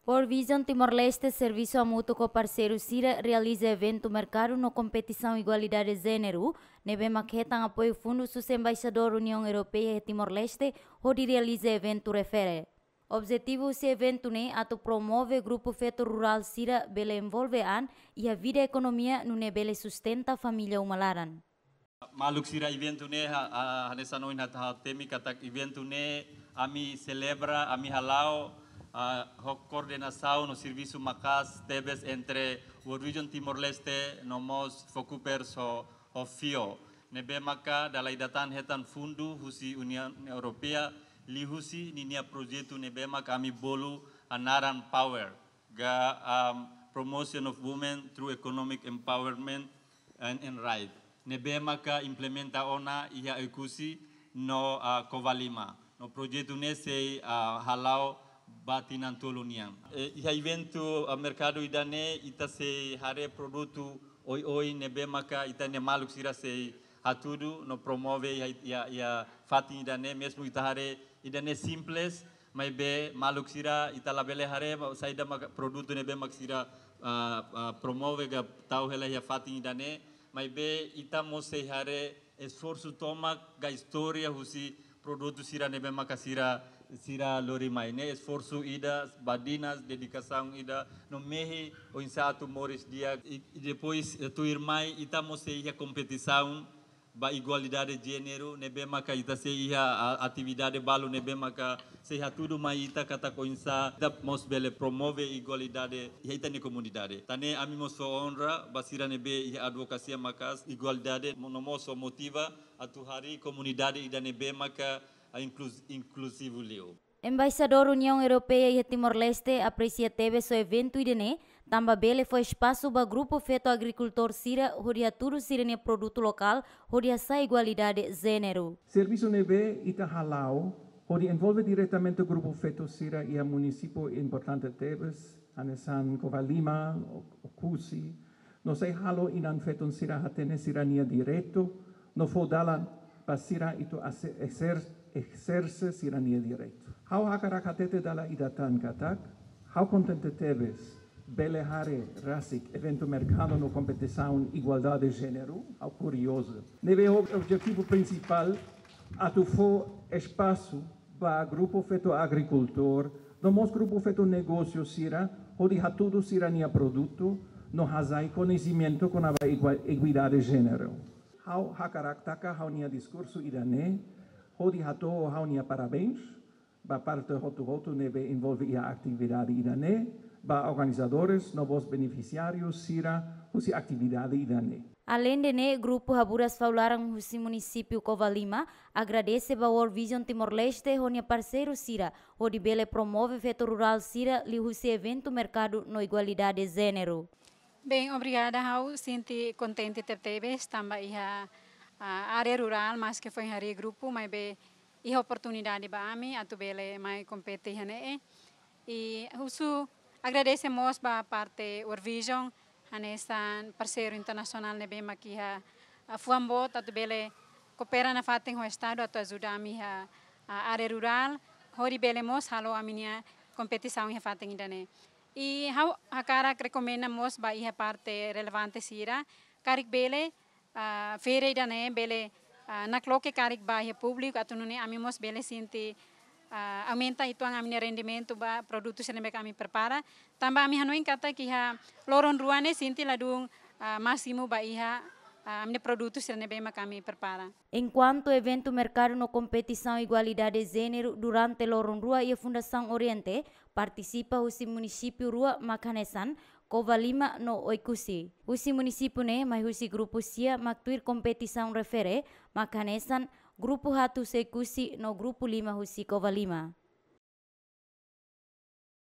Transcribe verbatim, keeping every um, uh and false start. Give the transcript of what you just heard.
World Vision Timor-Leste servisu hamutuk ho parseiru sira realiza eventu merkadu no kompetisaun igualdade jéneru, ne'ebé mak hetan apoiu fundu husi Embaixadór Uniaun Europeia iha Timor-Leste, hodi realiza eventu refere. Objetivu husi eventu ne'e atu promove grupu feto rurál sira bele envolve an iha vida ekonomia nune'e bele sustenta família uma laran. Maluk sira, eventu ne'e ha, ha, hanesan ohin ha'u hateten katak eventu ne'e ami selebra, ami hala'o, ah, ho koordenasaun no servisu maka'as tebes entre World Vision Timor-Leste no mós Focupers ho, ho FIO. Ne'ebé maka dala ida tan hetan fundu husi Uniaun Europeia liuhusi ninia projetu ne'ebé maka ami bolu naran Power, ka, um, Promotion of Women through Economic Empowerment and, and Right. Ne'ebé maka implementa ona iha Oekusi no, ah, Covalima. No projetu ne'e sei, ah, hala'o ba tinan tolu nian. Eh, iha eventu, ah, merkadu ida-ne'e ita sei haree produtu oioin ne'ebé maka ita-nia maluk sira sei hatudu no promove iha, iha, iha fatin ida-ne'e, mezmu ita haree ida-ne'e simples, maibé maluk sira ita labele haree ba saida maka produtu ne'ebé mak sira, ah, ah, promove ka tau hela iha fatin ida-ne'e, maibé ita mós sei haree esforsu tomak ka istória husi produtu sira ne'ebé maka sira, sira lori mai ne'e, esforsu ida, badinas, dedikasaun ida, no mehi oinsá atu moris di'ak, i, i depois, eh, tuirmai ita mós sei iha kompetisaun ba igualdade jéneru, ne'ebé maka ita sei iha, a, atividade balu ne'ebé maka sei hatudu mai ita katak oinsá ita mós bele promove igualdade iha ita-nia komunidade. Tan ne'e ami mós fó onra ba sira ne'ebé iha advokasia maka'as igualdade, mo-, no mós fó motiva atu harii komunidade ida ne'ebé maka, a, inkluz-, inkluzivu liu. Embaixadór Uniaun Europeia iha Timor-Leste apresia tebes ho eventu ida-ne'e, tanba bele fó espasu ba grupu feto agrikultór sira hodi hatudu sira-nia produtu lokál hodi hasa'e igualdade jéneru. Servisu ne'ebé ita hala'o hodi envolve diretamente grupu feto sira iha munisípiu importante tebes, hanesan Covalima, O-, Oekusi, no sei halo inan-feton sira hatene sira-nia direitu, no fó dalan ba sira atu ase-, exer-, exerse sira-nia direitu. Ha'u hakarak hatete dala ida tan katak, ha'u kontente tebes bele haree rasik eventu merkadu no kompetisaun igualdade jéneru, ha'u kuriozu. Ne'ebé ho objetivu prinsipál atu fó espasu ba grupu feto agrikultór, no mós grupu feto negósiu sira, hodi hatudu sira-nia produtu, no hasai koñesimentu kona-ba igua-, igualdade jéneru. Ha'u hakarak taka ha'u-nia diskursu ida-ne'e, hodi hato'o ha'u-nia parabéns ba parte hotu-hotu ne'ebé envolve iha atividade ida-ne'e, ba organizadores no mós benefisiáriu sira husi atividade ida-ne'e. Aleinde ne'e, grupu Haburas Fau Laran husi munisípiu Covalima agradese ba World Vision Timor-Leste ho nia parseiru sira, hodi bele promove feto rurál sira liuhusi eventu merkadu no igualdade jéneru. Bem, obrigada. Ha'u sente kontente tebetebes tanba iha, ah, área rurál, maske foin harii grupu, maibé iha oportunidade ba ami atu bele mai kompete iha ne'e. I husu agradese mós ba parte World Vision, hanesan parseiru internasionál ne'ebé mak iha, ah, fuan boot atu bele koopera nafatin ho Estadu atu ajuda ami iha, ah, área rurál, hodi bele mós halo ami-nia kompetisaun iha fatin ida-ne'e. I ha'u hakarak rekomenda mós ba iha parte relevante sira, karik bele, ah, feira ida-ne'e bele, ah, nakloke karik ba iha públiku atu nune'e ami mós bele sente, ah, aumenta uitoan ami-nia rendimentu ba produtu sira ne'ebé ami prepara. Tanba ami hanoin katak iha loron rua ne'e sente ladún, ah, másimu ba iha, ah, ami-nia produtu sira ne'ebé mak ami prepara. Enkuantu eventu merkadu no kompetisaun igualdade jéneru durante loron rua iha Fundasaun Oriente, partisipa husi munisípiu rua mak hanesan Covalima no Oekusi. Husi munisípiu ne'e mai husi grupu sia mak tuir kompetisaun refere mak hanesan grupu haat husi Oekusi no grupu lima husi Covalima.